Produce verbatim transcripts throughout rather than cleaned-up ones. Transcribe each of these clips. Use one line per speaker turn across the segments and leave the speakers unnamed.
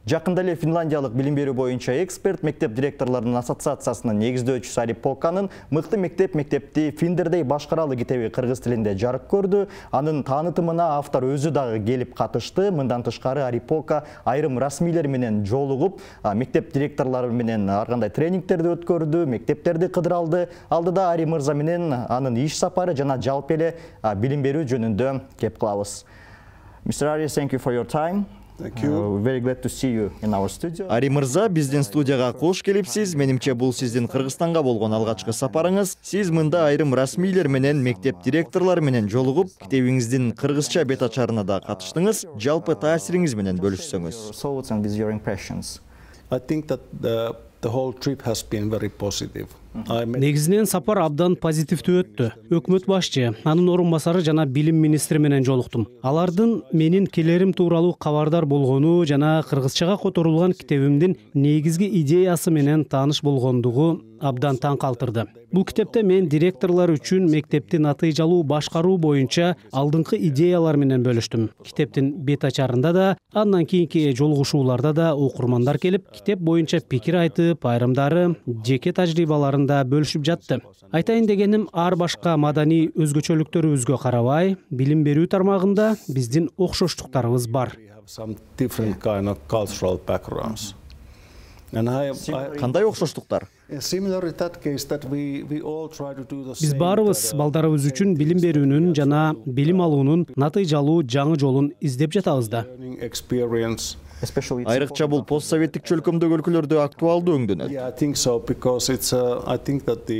Жакында эле Финляндиялык билим берүү боюнча эксперт мектеп директорлорунун ассоциациясынын негиздөөчүсү Ари Поканын «Мыкты мектеп мектепти финдердей башкаралы» китеби кыргыз тилинде жарык көрдү. Анын таанытымына автор өзү дагы келип катышты. Мындан тышкары Ари Пока айрым расмийлер менен жолугуп, мектеп директорлору менен ар кандай тренингтерди өткөрдү, мектептерди кыдыра алды. Алдыда Ари мырза менен анын иш сапары жана жалпы эле билим берүү жөнүндө кеп кылабыз. мистер Ari, thank you for your time.
Thank you.
Uh, very glad to see you in our studio.
Ари мырза, биздин студияга кош келипсиз. Менимче бул сиздин Кыргызстанга болгон алгачкы сапарыңыз. Сиз мында айрым расмийлер менен, мектеп директорлору менен жолугуп, китебиңиздин кыргызча бет ачарына да катыштыңыз. Жалпы таасириңиз менен бөлүшсөңүз.
Thoughts and with your impressions.
I think that the, the whole trip has been very positive.
Негизинен сапар абдан позитивдүү өттү. Өкмөт башчы, анын орун басары жана билим министри менен жолуктум. Алардын менин келерим тууралуу кабардар болгону жана кыргызчага которулган китебимдин негизги идеясы менен тааныш болгондугу абдан таң калтырды. Бул китепте мен директорлор үчүн мектепти натыйжалуу башкаруу боюнча алдыңкы идеялар менен бөлүштүм. Китептин бет ачарында да, андан кийинки жолугушууларда да окурмандар келип, китеп боюнча пикир айтып, айрымдары жеке тажрыйбаларын да бөлүшүп жатты. Айтайын дегеним, ар башка маданий өзгөчөлүктөрүбүзгө карабай, билим берүү тармагында биздин окшоштуктарыбыз бар.
Кандай окшоштуктар?
Биз баарыбыз балдарыбыз үчүн билим берүүнүн жана билим алуунун натыйжалуу жаңы жолун издеп жатабыз да.
Айрыкча бул постсоветтик чөлкөмдөгү өлкөлөрдө актуалдуу өңдөнөт.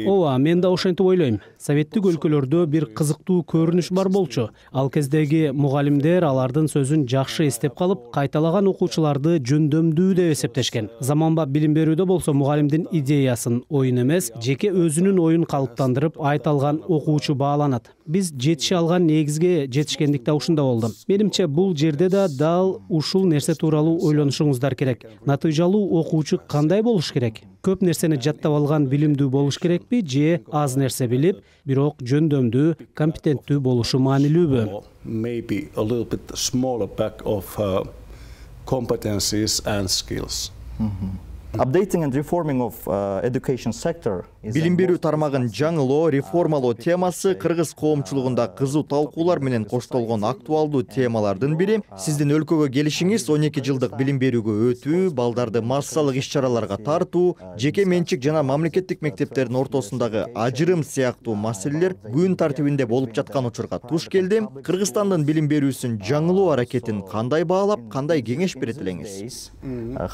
Ооба, мен да ошентип ойлойм. Советтик өлкөлөрдө бир кызыктуу көрүнүш бар болчу. Ал кездеги мугалимдер алардын сөзүн жакшы эстеп калып, кайталаган окуучуларды жөндөмдүү деп эсептешкен. Заманбап билим берүүдө болсо мугалимдин идеясын, оюн эмес, жеке өзүнүн оюн калыптандырып айта алган окуучу бааланат. Биз жетише алган негизге жетишкендик да ушунда болду. Менимче бул жерде да дал ушул нерсе тууралуу ойлонушуңуздар керек. Натыйжалуу окуучу кандай болуш керек? Көп нерсени жаттап алган билимдүү болуш керекпи же аз нерсе билип, бирок жөндөмдүү, компетенттүү болушу маанилүүбү?
Maybe a little bit smaller pack of uh, competencies and skills.
Mm-hmm. Updating and reforming of uh, education sector.
Билим берүү тармагын жаңылоо, реформалоо темасы кыргыз коомчулугунда кызуу талкуулар менен коштолгон актуалдуу темалардын бири. Сиздин өлкөгө келишиңиз он эки жылдык билим берүүгө өтүү, балдарды массалык иш-чараларга тартуу, жеке менчик жана мамлекеттик мектептердин ортосундагы ажырым сыяктуу маселелер күн тартибинде болуп жаткан учурга туш келди. Кыргызстандын билим берүүсүн жаңылоо аракетин кандай баалап, кандай кеңеш берет элеңиз?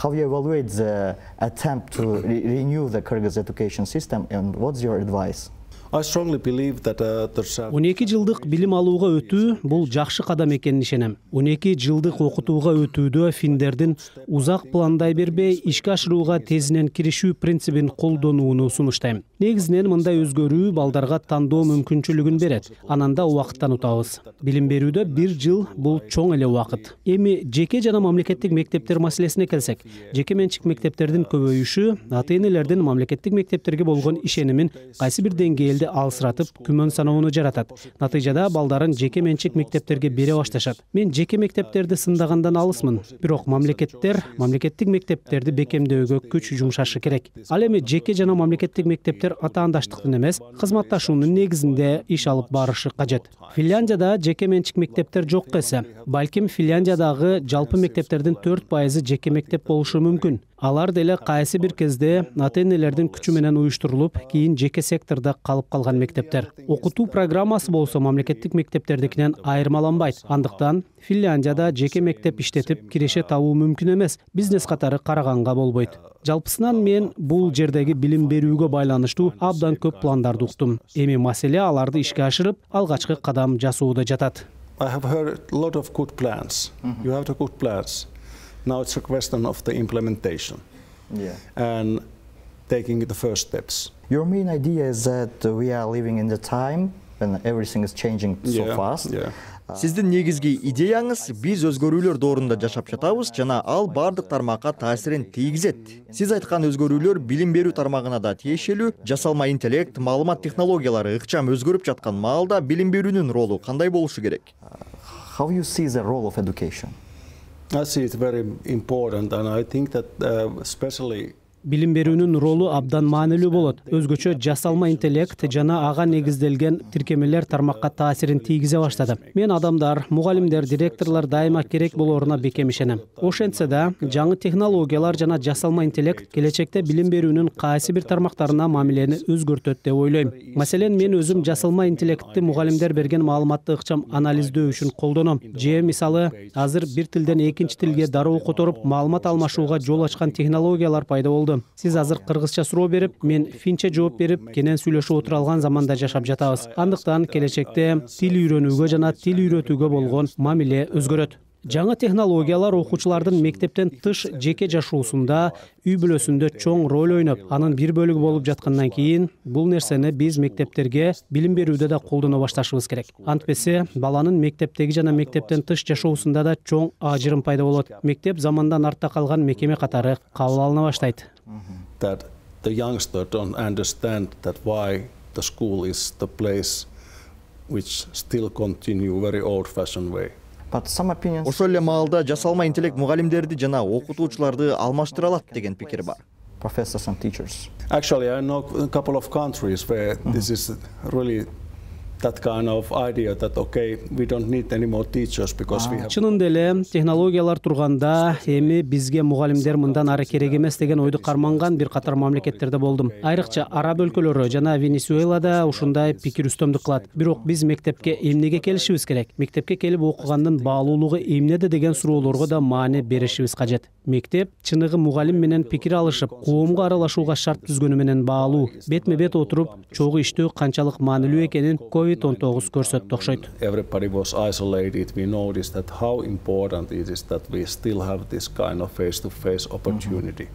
How you evaluate the attempt to re renew the Kyrgyz education system, and what's your advice?
I strongly believe that uh, there's a...
он эки жылдык билим алууга өтүү бул жакшы кадам экенин ишенем. он эки жылдык окутууга өтүүдө финдердин узак пландай бербей ишке ашырууга тезинен киришүү принцибин колдонууну сунуштайм. Негизинен мындай өзгөрүү балдарга тандоо мүмкүнчүлүгүн берет. Анан да убакыттан утабыз. Билим берүүдө бир жыл бул чоң эле убакыт. Эми жеке жана мамлекеттик мектептер маселесине келсек, жеке менчик мектептердин көбөйүшү ата-энелердин мамлекеттик мектептерге болгон ишенимин кайсы бир деңгээлде алсыратып, күмөн саноону жаратат. Натыйжада балдарын жеке менчик мектептерге бере башташат. Мен жеке мектептерди сындагандан алысмын. Бирок мамлекеттер мамлекеттик мектептерди бекемдөөгө күч жумшашы керек. Ал эми жеке жана мамлекеттик мектептер атаандаштыктын эмес, кызматташуунун негизинде иш алып барышы кажет. Финляндияда жеке менчик мектептер жок эсе. Балким Финляндиядагы жалпы мектептердин төрт пайызы жеке мектеп болушу мүмкүн. Алар деле кайсы бир кезде ата-энелердин күчү менен уюштурулуп, кийин жеке сектордо калып калган мектептер. Окутуу программасы болсо мамлекеттик мектептердикинен айырмаланбайт. Андыктан Финляндияда жеке мектеп иштетип киреше табуу мүмкүн эмес. Бизнес катары караганга болбойт. Жалпысынан мен бул жердеги билим берүүгө байланыштуу абдан көп пландарды уктум. Эми маселе аларды ишке ашырып, алгачкы кадам жасоодо жатат.
I have heard a lot of good plans. Mm-hmm. You have the good plans. Now it's a question of the implementation.
Yeah.
And taking the first steps.
Your main idea is that we are living in the time when everything is changing so
yeah,
fast.
Yeah.
Сиздин негизги идеяңыз биз өзгөрүүлөр доорунда жашап жатабыз жана ал бардык тармакка таасирин тийгизет. Сиз айткан өзгөрүүлөр билим берүү тармагына да тиешелүү. Жасалма интеллект, маалымат технологиялары ыкчам өзгөрүп жаткан маалда билим берүүнүн ролу кандай болушу керек?
How you see the role of education?
I see it very important, and I think that uh, especially
билим берүүнүн ролу абдан маанилүү болот. Өзгөчө жасалма интеллект жана ага негизделген тиркемелер тармакка таасирин тийгизе баштады. Мен адамдар, мугалимдер, директорлор дайыма керек болоруна бекем ишенем. Ошентсе да, жаңы технологиялар жана жасалма интеллект келечекте билим берүүнүн кайсы бир тармактарына мамилени өзгөртөт деп ойлойм. Маселен, мен өзүм жасалма интеллектти мугалимдер берген маалыматты ыкчам анализдөө үчүн колдоном. Же мисалы, азыр бир тилден экинчи тилге дароо которуп, маалымат алмашууга жол ачкан технологиялар пайда болду. Сиз азыр кыргызча суроо берип, мен финче жооп берип, кенен сүйлөшүп отура алган заманда жашап жатабыз. Андыктан келечекте тил үйрөнүүгө жана тил үйрөтүүгө болгон мамиле өзгөрөт. Жаңы технологиялар окуучулардын мектептен тыш жеке жашоосунда, үй бүлөсүндө чоң роль ойноп, анын бир бөлүгү болуп жаткандан кийин, бул нерсени биз мектептерге билим берүүдө да колдоно башташыбыз керек. Антпесе, баланын мектептеги жана мектептен тыш жашоосунда да чоң ажырым пайда болот. Мектеп замандан артта калган мекеме катары кабыл алына баштайт.
That the youngster don't understand that why the school is the place which still continue very old-fashioned way.
Ошол эле маалда жасалма интеллект мугалимдерди жана окутуучуларды алмаштыра алат деген пикир бар.
Professors and teachers.
Actually, I know a couple of countries where mm-hmm. this is really that kind of idea that okay, we don't need any more teachers because we have.
Чынында эле технологиялар турганда эми бизге мугалимдер мындан ары керек эмес деген ойду карманган бир катар мамлекеттерде болдум. Айрыкча араб өлкөлөрү жана Венесуэлада ушундай пикир үстөмдүк кылат. Бирок биз мектепке эмнеге келишибиз керек? Мектепке келип окугандын баалуулугу эмнеде деген суроолорго да маани беришибиз кажет. Мектеп чыныгы мугалим менен пикир алышып, коомго аралашууга шарт түзгөнү менен баалуу. Бетме бет отуруп, чогуу иштөө канчалык маанилүү экенин ковид он тогуз көрсөттү окшойт.
Everybody was isolated. We noticed that how important it is that we still have this kind of face-to-face opportunity.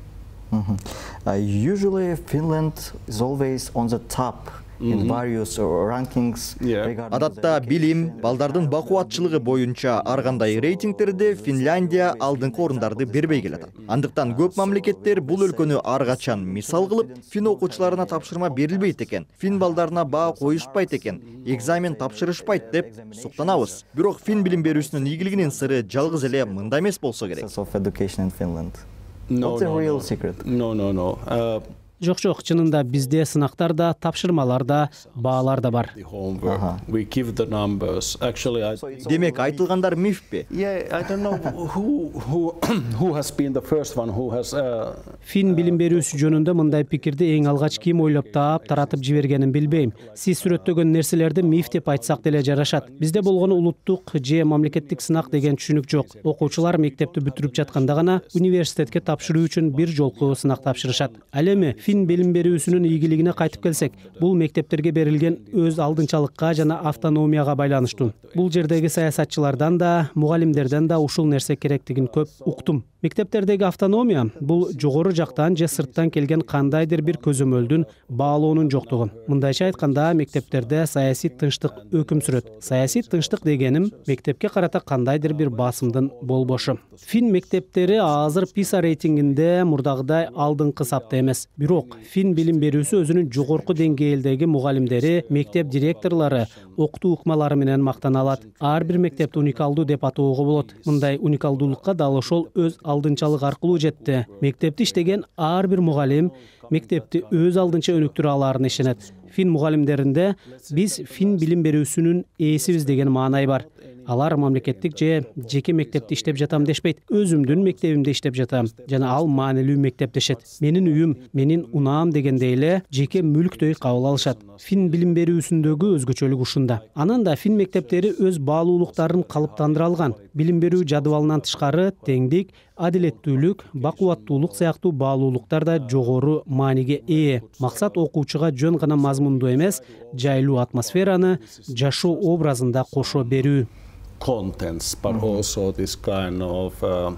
Mm-hmm. Uh, usually Finland is always on the top in various rankings.
Адатта билим, балдардын бакубатчылыгы боюнча ар кандай рейтингтерде Финляндия алдыңкы орундарды бербей келет. Андыктан көп мамлекеттер бул өлкөнү ар качан мисал кылып, фин окуучуларына тапшырма берилбейт экен, фин балдарына баа коюшпайт экен, экзамен тапшырышпайт деп суктанабыз. Бирок фин билим берүүсүнүн ийгилигинин сыры жалгыз эле мында эмес болсо керек.
Of education in Finland.
No,
What's the
no,
real
no.
secret?
No, no, no. Uh,
Жок, жок, чынында бизде сынактар да, тапшырмалар да, баалар да бар.
the homework. We give the numbers. Actually, I.
Демек айтылгандар мифпи?
Yeah, I don't know who who who has been the first one who has. Uh,
Фин билим берүүсү жөнүндө мындай пикирди эң алгач ким ойлоп таап, таратып жибергенин билбейм. Сиз сүрөттөгөн нерселерди миф деп айтсак деле жарашат. Бизде болгон улуттук же мамлекеттик сынак деген түшүнүк жок. Окуучулар мектепти бүтүрүп жатканда гана университетке тапшыруу үчүн бир жолку сынак тапшырышат. Ал эми фин билим берүүсүнүн ийгилигине кайтып келсек, бул мектептерге берилген өз алдынчалыкка жана автономияга байланыштуу. Бул жердеги саясатчылардан да, мугалимдерден да ушул нерсе керектигин көп уктум. Мектептердеги автономия бул жогору жактан же сырттан келген кандайдыр бир көзөмөлдүн баалоонун жоктугу. Мындайча айтканда, мектептерде саясий тынчтык өкүм сүрөт. Саясий тынчтык дегеним мектепке карата кандайдыр бир басымдын болбошу. Фин мектептери азыр писа рейтингинде мурдагыдай алдыңкы сапта эмес. Бирок фин билим берүүсү өзүнүн жогорку деңгээлдеги мугалимдери, мектеп директорлору, окутуу ыкмалары менен мактана алат. Ар бир мектепти уникалдуу деп атоого болот. Мындай уникалдуулукка дал ошол өз алдынчалык аркылуу жетти. Мектепти иштеген ар бир мугалим мектепти өз алдынча өнүктүрө аларын ишенет. Фин мугалимдеринде биз фин билим берүүсүнүн ээсибиз деген маанай бар. Алар мамлекеттик же жеке мектепте иштеп жатам дешпейт. Өзүмдүн мектебимде иштеп жатам жана ал маанилүү мектеп дешет. Менин үйүм, менин унаам дегендей эле жеке мүлктөй кабыл алышат. Фин билим берүүсүндөгү өзгөчөлүк ушунда. Анан да фин мектептери өз баалуулуктарын калыптандыра алган. Билим берүү жадыбалынан тышкары теңдик, адилеттүүлүк, бакубаттуулук сыяктуу баалуулуктар да жогору мааниге ээ. Максат окуучуга жөн гана мазмунду эмес, жайлуу атмосфераны жашоо образында кошо берүү.
Contents, but mm-hmm. also this kind of uh,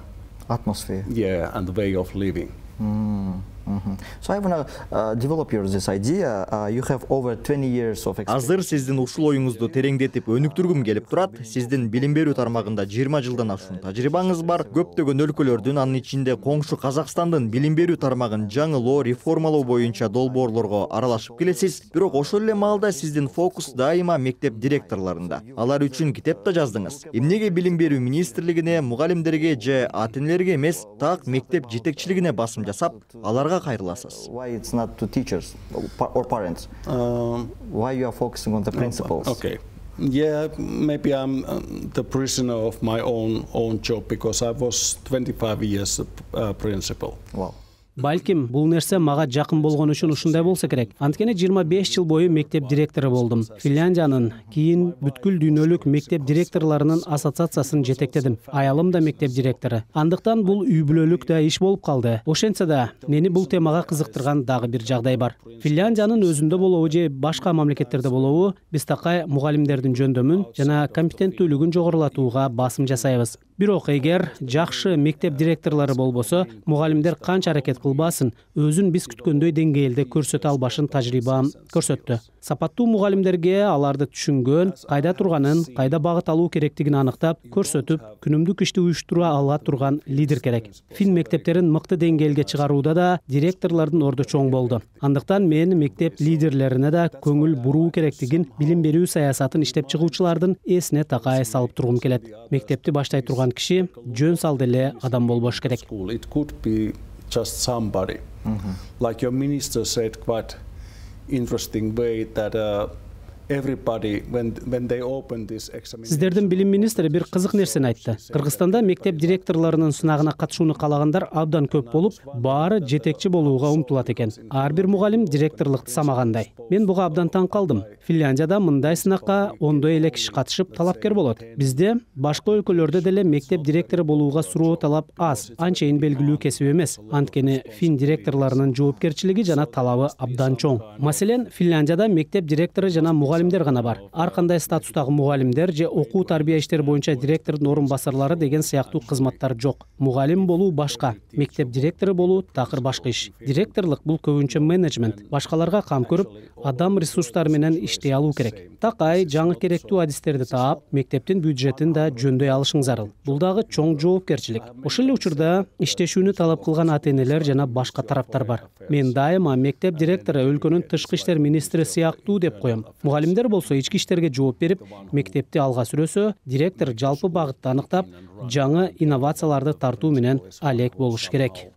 atmosphere.
Yeah, and way of living.
Mm-hmm. So I want to uh, develop your this idea. Uh, you have over twenty years of experience.
Азыр сиздин ушул оюңузду тереңдетип өнүктүргүм келип турат. Сиздин билим берүү тармагында жыйырма жылдан ашуун тажрыйбаңыз бар. Көптөгөн өлкөлөрдүн, анын ичинде коңшу Казакстандын билим берүү тармагын жаңылоо, реформалоо боюнча долбоорлорго аралашып келесиз. Бирок ошол эле маалда сиздин фокус дайыма мектеп директорлорунда. Алар үчүн китеп да жаздыңыз. Эмнеге билим берүү министрлигине, мугалимдерге же ата-энелерге эмес, так мектеп жетекчилигине басым жасап, аларга кайрыласыз?
Why it's not to teachers or parents?
Um,
Why you are focusing on the principals?
Okay. Yeah, maybe I'm uh, the prisoner of my own own job because I was twenty-five years uh, principal.
Wow.
Балким, бул нерсе мага жакын болгон үчүн ушундай болсо керек. Анткени жыйырма беш жыл бою мектеп директору болдум. Финляндиянын, кийин бүткүл дүйнөлүк мектеп директорлорунун ассоциациясын жетектедим. Аялым да мектеп директору. Андыктан бул үй бүлөлүк да иш болуп калды. Ошентсе да, мени бул темага кызыктырган дагы бир жагдай бар. Финляндиянын өзүндө болобу же башка мамлекеттерде болобу, биз такай мугалимдердин жөндөмүн жана компетенттүүлүгүн жогорулатууга басым жасайбыз. Бирок эгер жакшы мектеп директорлору болбосо, мугалимдер канча аракет кылбасын, өзүн биз күткөндөй деңгээлде көрсөтө албашын тажрыйбам көрсөттү. Сапаттуу мугалимдерге аларды түшүнгөн, кайда турганын, кайда багыт алуу керектигин аныктап, көрсөтүп, күнүмдүк ишти уюштура ала турган лидер керек. Фин мектептерин мыкты деңгээлге чыгарууда да директорлордун орду чоң болду. Андыктан мен мектеп лидерлерине да көңүл буруу керектигин билим берүү саясатын иштеп чыгуучулардын эсине такай салып тургум келет. Мектепти баштай турган киши жөн салды эле адам болбош керек.
It could be just somebody. Mm-hmm. Like your minister said quite interesting way that uh, everybody when when they open this examination.
Сиздердин билим министри бир кызык нерсени айтты. Кыргызстанда мектеп директорлорунун сынагына катышууну каалагандар абдан көп болуп, баары жетекчи болууга умтулат экен. Ар бир мугалим директорлукту самагандай. Мен буга абдан таң калдым. Финляндияда мындай сынакка ондой эле киши катышып талапкер болот. Бизде башка өлкөлөрдө деле мектеп директору болууга суроо талап аз, анчейин белгилүү кесип эмес. Анткени фин директорлорунун жоопкерчилиги жана талабы абдан чоң. Маселен, Финляндияда мектеп директору жана мугалимдер гана бар. Ар кандай статустагы мугалимдер же окуу тарбия иштери боюнча директордун орун басарлары деген сыяктуу кызматтар жок. Мугалим болуу башка, мектеп директору болуу такыр башка иш. Директорлук бул көбүнчө менеджмент, башкаларга кам көрүп, адам ресурстары менен иштей алуу керек. Такай жаңы керектүү адистерди таап, мектептин бюджетин да жөндөй алышың зарыл. Бул дагы чоң жоопкерчилик. Ошол эле учурда иштешүүнү талап кылган ата-энелер жана башка тараптар бар. Мен дайыма мектеп директору өлкөнүн тышкы иштер министри сыяктуу деп коем. Мугалимдер болсо ички иштерге жооп берип, мектепти алга сүрөсө, директор жалпы багытты аныктап, жаңы инновацияларды тартуу менен алек болуш керек.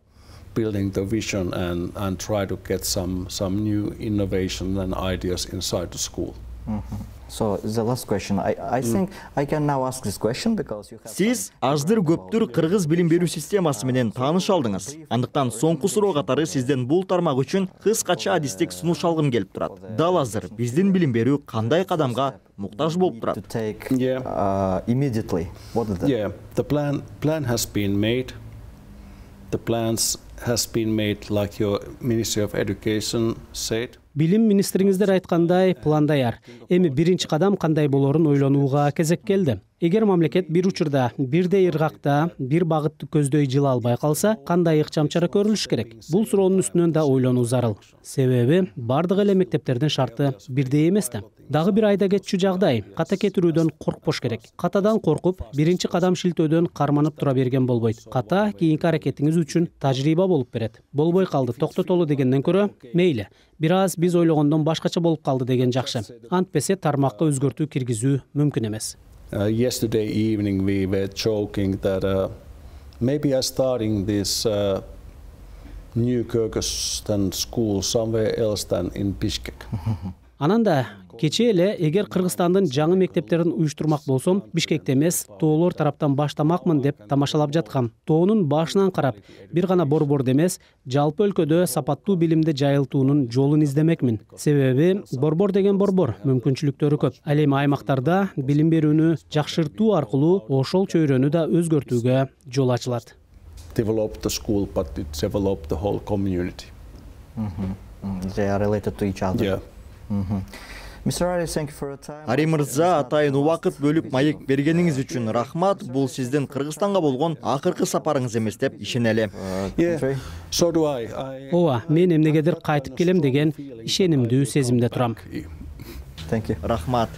Building the vision and and try to get some some new innovation and ideas inside the school.
Mm-hmm. So the last question, I I think I can now ask this question because you have.
Сиз аздыр көптүр кыргыз билим берүү системасы менен тааныш алдыңыз. Андыктан соңку суроо катары сизден бул тармак үчүн кыскача адистик сунуш алгым келип турат. Дал азыр биздин билим берүү кандай кадамга муктаж болуп турат?
To take
Yeah.
uh, immediately. What is that?
Yeah, the plan plan has been made. The plans has been made like your Ministry of Education said.
Билим министриңиздер айткандай, план даяр. Эми биринчи кадам кандай болорун ойлонууга кезек келди. Эгер мамлекет бир учурда бирдей ыргакта бир багытты көздөй жыла албай калса, кандай ыкчам чара көрүлүш керек? Бул суроонун үстүнөн да ойлонуу зарыл. Себеби бардык эле мектептердин шарты бирдей эмес да. Дагы бир айда кетчү жагдай, ката кетирүүдөн коркпош керек. Катадан коркуп, биринчи кадам шилтөөдөн карманып тура берген болбойт. Ката кийинки аракетиңиз үчүн тажрыйба болуп берет. Болбой калды, токтотолу дегенден көрө, мейли, бир аз биз ойлогондон башкача болуп калды деген жакшы. Антпесе тармакка өзгөртүү киргизүү мүмкүн эмес.
Uh, yesterday evening we were joking that uh, maybe I'm starting this uh, new Kyrgyzstan school somewhere else than in Bishkek.
Ананда кече эле эгер Кыргызстандын жаңы мектептерин уюштурмак болсом, Бишкекте эмес, тоолор тараптан баштамакмын деп тамашалап жаткам. Тоонун башынан карап, бир гана борбордо эмес, жалпы өлкөдө сапаттуу билимди жайылтуунун жолун издемекмин. Себеби борбор деген борбор, мүмкүнчүлүктөрү көп. Ал эми аймактарда билим берүүнү жакшыртуу аркылуу ошол чөйрөнү да өзгөртүүгө жол ачылат.
Develop the school, but it develop the whole community.
Mm-hmm. Mm-hmm. They are related to each other.
Yeah.
Mm-hmm.
Ари мырза, атайын убакыт бөлүп маек бергениңиз үчүн рахмат. Бул сиздин Кыргызстанга болгон акыркы сапарыңыз эмес деп ишенелим.
Yeah, so do I. I
ооба, мен эмнегедир кайтып келем деген ишенимдүү сезимде турам.
Thank you.
Рахмат.